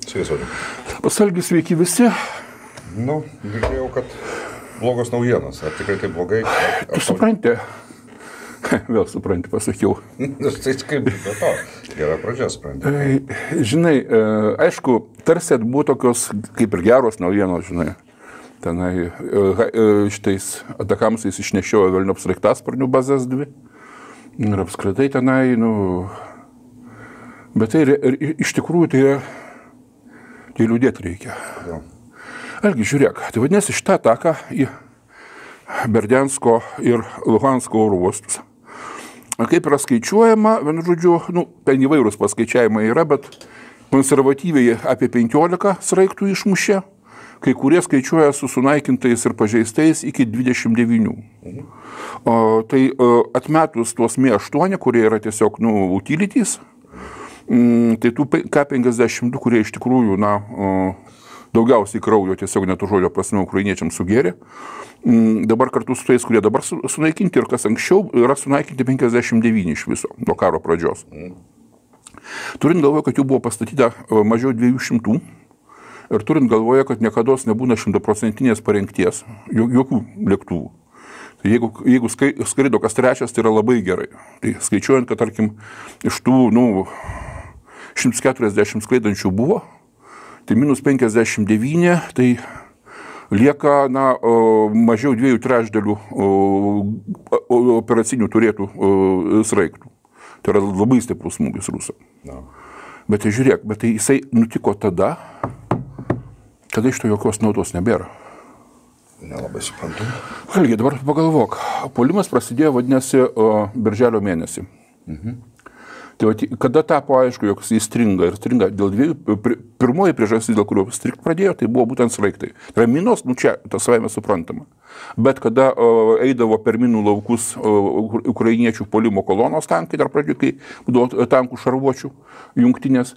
Sveiki. Pasalgi, sveiki visi. Nu, girdėjau, kad blogos naujienos. Ar tikrai tai blogai? Tu supranti? Vėl supranti, pasakiau. Tai kaip be to? Gera pradžia, supranti. Žinai, aišku, tarsi buvo tokios kaip ir geros naujienos, žinai. Tenai šitais atakamsais išnešiojo Velnio sraigtasparnių bazės 2. Ir apskritai tenai, bet tai iš tikrųjų tai liūdėti reikia. Algi, žiūrėk, tai vadinasi šitą ataką į Berdiansko ir Luhansko oro uostus. Kaip yra skaičiuojama, vienu žodžiu, ten įvairūs paskaičiavimai yra, bet konservatyviai apie 15 sraigtų išmušė, kai kurie skaičiuoja su sunaikintais ir pažeistais iki 29. Tai atmetus tuos Mi-8, kurie yra tiesiog, utilities, tai tų K-52, kurie iš tikrųjų, daugiausiai kraujo tiesiog net žodžio prasme ukrainiečiams sugėrė. Dabar kartu su tais, kurie dabar sunaikinti ir kas anksčiau, yra sunaikinti 59 iš viso nuo karo pradžios. Turint galvoje, kad jų buvo pastatyta mažiau 200 ir turint galvoje, kad niekados nebūna 100% parengties, jokių lėktuvų. Tai jeigu skrido kas trečias, tai yra labai gerai. Tai skaičiuojant, kad tarkim iš tų 140 skraidančių buvo, tai minus 59, tai lieka mažiau 2/3 operacinių turėtų sraigtų. Tai yra labai stiprus smūgis rusam. Bet tai žiūrėk, tai jisai nutiko tada, kada iš to jokios naudos nebėra. Nelabai suprantu. Algi, dabar pagalvok. Puolimas prasidėjo, vadinasi, birželio mėnesį. Tai kada tapo aišku, jog jis stringa dėl dviejų, pirmoji priežastis, dėl kurio strigt pradėjo, tai buvo būtent sraigtai. Tai yra minos, čia tas savaime suprantama. Bet kada eidavo per minų laukus ukrainiečių puolimo kolonos tankai, dar pradžioje, kai būdavo tankų šarvuočių jungtinės,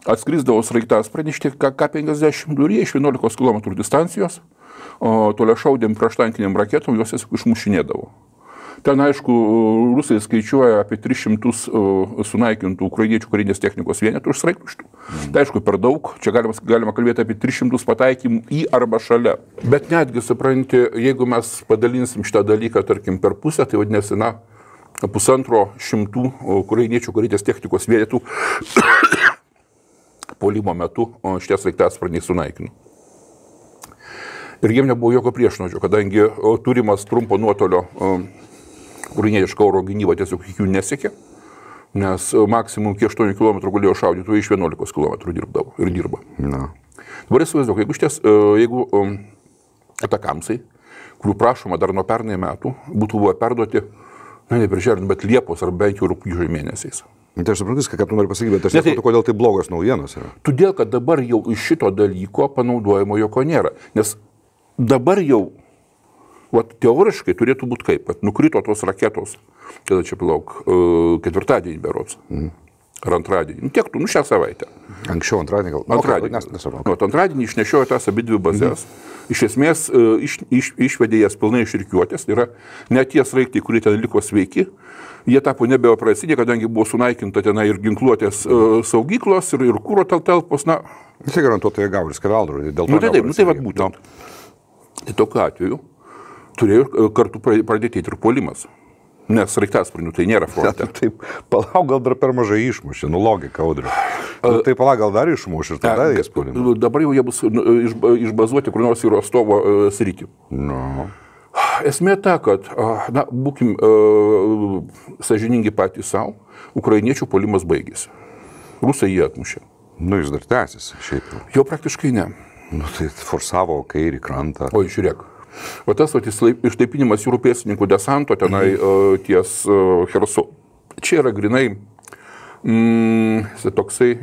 atskrisdavo sraigtasparniai K-52 ir jie iš 11 km distancijos, toliašaudėm prieštankiniam raketom, juos tiesiog išmušinėdavo. Ten, aišku, rusai skaičiuoja apie 300 sunaikintų ukrainiečių karinės technikos vienetų iš sraigtų. Tai aišku, per daug. Čia galima kalbėti apie 300 pataikymų į arba šalia. Bet netgi, supranti, jeigu mes padalinsim šitą dalyką, tarkim, per pusę, tai vadinasi, 150 ukrainiečių karinės technikos vienetų puolimo metu šitie sraigtasparniai sunaikino. Ir jiem nebuvo jokio priešnuodžio, kadangi turimas trumpo nuotolio ukrainietiška oro gynyba tiesiog iki jų nesiekė, nes maksimum iki 8 km galėjo šaudyti, o iš 11 km dirba. Dabar įsivaizduok, jeigu atakamsai, kurių prašoma dar nuo pernai metų, būtų buvo perduoti, ne birželio, bet Liepos ar bent jau rugpjūčio mėnesiais. Tai aš suprantu, ką tu nori pasakyti, bet aš nesuprantu, kodėl tai blogos naujienos yra. Todėl, kad dabar jau iš šito dalyko panaudojimo jokio nėra, nes dabar jau teoriškai turėtų būti kaip, kad nukrito tos raketos, kada čia ketvirtadienį berods, ar antradienį, tiek tu, šią savaitę. Anksčiau antradienį gal? Antradienį išnešiojo tas abidvi bazės, iš esmės išvedė jas pilnai iš rikiuotės, tai yra net tie sraigtai, kurie ten liko sveiki, jie tapo nebeoperaciniai, kadangi buvo sunaikinta tenai ir ginkluotės saugyklos, ir kuro talpos, Tai garantuotai gavo ir skeveldrų, dėl to tai vat būtent. Tai tokiu atveju turėjo kartu pradėti ir puolimas. Nes sraigtasparnių tai nėra fronte. Taip, palauk, gal dar per mažai išmušė, logika, Audriu. Tai palauk, gal dar išmušė ir tada jis puolimas. Dabar jau jie bus išbazuoti kur nors į Rostovo sritį. Esmė ta, kad, būkim sąžiningi patys savo, ukrainiečių puolimas baigėsi. Rusai jį atmušė. Jis dar tęsiasi, šiaip jau. Jau praktiškai ne. Tai forsavo kairį krantą. Oi, žiūrėk. O tas ištaipinimas jūrų pėstininkų desanto tenai ties Chersu. Čia yra grinai toksai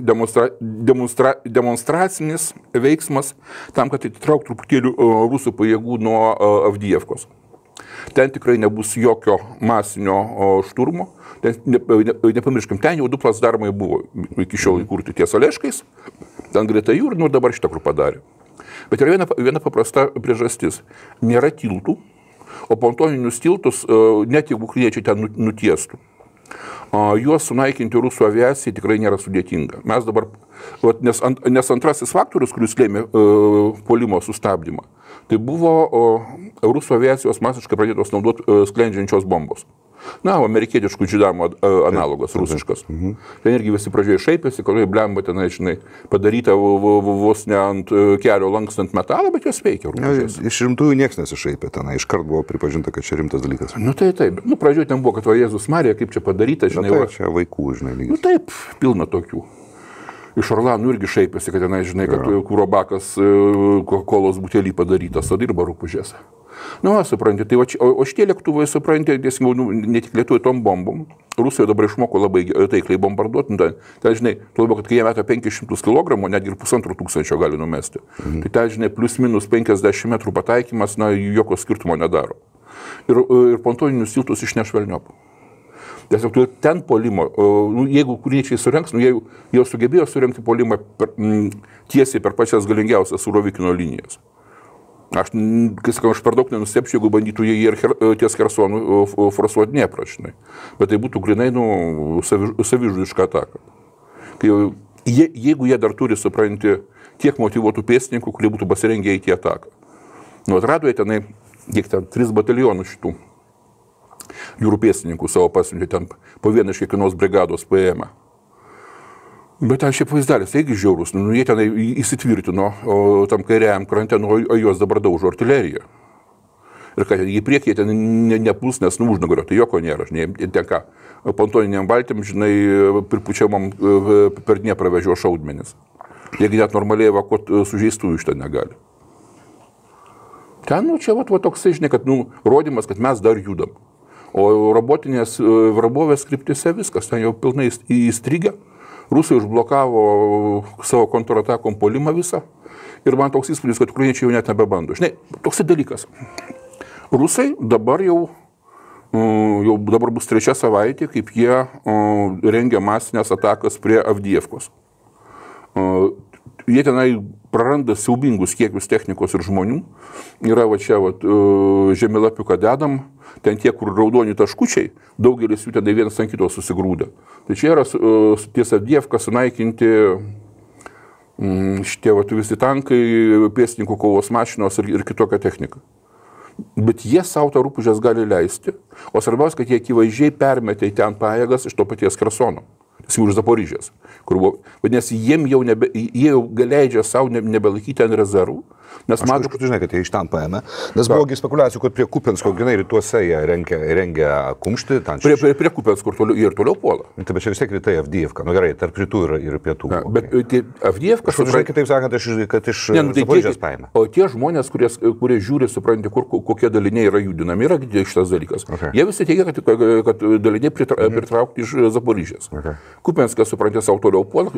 demonstracinis veiksmas tam, kad atitrauktų truputėlių rusų pajėgų nuo Avdijevkos. Ten tikrai nebus jokio masinio šturmo. Nepamirškim, ten jau 2 placdarmai buvo iki šiol įkurti ties Oleškais, ten greta jų ir dabar šitą kur padarė. Bet yra viena paprasta priežastis. Nėra tiltų, o pontoninius tiltus net jeigu ukrainiečiai ten nutiestų. juos sunaikinti rusų aviacijai tikrai nėra sudėtinga. Mes dabar, nes antrasis faktorius, kuris lėmė puolimo sustabdymą, tai buvo rusų aviacijos masiškai pradėtos naudoti sklendžiančios bombos. Na, amerikietiškų džidamo analogas, rusiškas. Ten irgi visi pradžioje šaipėsi, kad blemba ten, žinai, padaryta vos ne ant kelio lankstant metalą, bet jos veikia. Iš rimtųjų niekas nesišaipė ten, iškart buvo pripažinta, kad čia rimtas dalykas. Nu tai taip, pradžioje ten buvo, kad Jėzus Marija, kaip čia padaryta, žinai. Tai čia vaikų, žinai, lygis. Nu taip, pilna tokių. Iš Orlanų irgi šaipėsi, kad tenai, žinai, kad kūro bakas kolos butelį padarytas, o dirba rūpužėse. Nu, supranti, tai o šitie lėktuvai, supranti, ne tik lietuoja tom bombom, Rusija dabar išmoko labai taikliai bombarduoti, ten, žinai, tuo labiau, kad kai jie meta 500 kg, netgi ir 1500 gali numesti. Tai ten, žinai, plus minus 50 metrų pataikymas, na, jokio skirtumo nedaro. Ir pontoninius tiltus išneš velniop. Tiesiog ten puolimo, jeigu kuriečiai surenks, jie sugebėjo surengti puolimą tiesiai per pačias galingiausias Surovikino linijas. Aš per daug nenustepčiau, jeigu bandytų jie ir ties Chersonu forsuoti neprašinai. Bet tai būtų grinai savižudiška ataka. Jeigu jie dar turi, supranti, tiek motyvuotų pėstininkų, kurie būtų pasirengę į ataką. Atrado jie tenai, kiek ten, 3 batalionus šitų jūrų pėstininkų savo pasiuntė ten po vieną iš kiekvienos brigados paėmę. Bet ten šiaip vaizdelis, taigi žiaurus, jie ten įsitvirtino tam kairiajam krante, o juos dabar daužo artilerija. Ir kad į priekį ten nepuls, nes užnugario, tai joko nėra, žinai, ten ką, pontoniniam valtim, žinai, pripučiamam per Dnieprą vežio šaudmenis. Jeigu net normaliai evakuoti sužeistų iš ten negali. Ten, čia toksai, žinai, kad, rodymas, kad mes dar judam. O robotinės vrabovės kryptise viskas, ten jau pilnai įstrigę. Rusai užblokavo savo kontratakom puolimą visą. Ir man toks įspūdis, kad ukrainiečiai jau net nebebando. Žinai, toksai dalykas. Rusai dabar dabar bus 3 savaitė, kaip jie rengia masinės atakas prie Avdijievkos. Jie tenai praranda siaubingus kiekius technikos ir žmonių. Yra žemėlapiuką dedam, ten tie, kur raudoni taškučiai, daugelis jų tenai vienas ant kito susigrūdę. Tai čia yra ties Avdijevka sunaikinti šitie visi tankai, pėstininkų kovos mašinos ir kitokia technika. Bet jie savo tą rūpužės gali leisti, o svarbiausia, kad jie akivaizdžiai permetė į ten pajėgas iš to paties Khersono. Iš Zaporižės, kur buvo, vadinasi, jie jau leidžia savo nebelaikyti ten rezervų. Aš kažkur žinai, kad jie iš ten paėmė, nes buvo spekulacijų, kad prie Kupiansko, grinai rytuose jie rengia kumštį. Prie Kupiansko ir toliau puola. Tai bet čia vis tiek rytai Avdijevka, gerai, tarp rytų ir pietų. Bet Avdijevka... Žinai, kitaip sakant, kad iš Zaporižės paėmė. O tie žmonės, kurie žiūri, supranti, kokie daliniai yra judinami, yra šitas dalykas. Jie visi teigia, kad daliniai pritraukti iš Zaporižės. Kupianskas, supranti, savo toliau puola.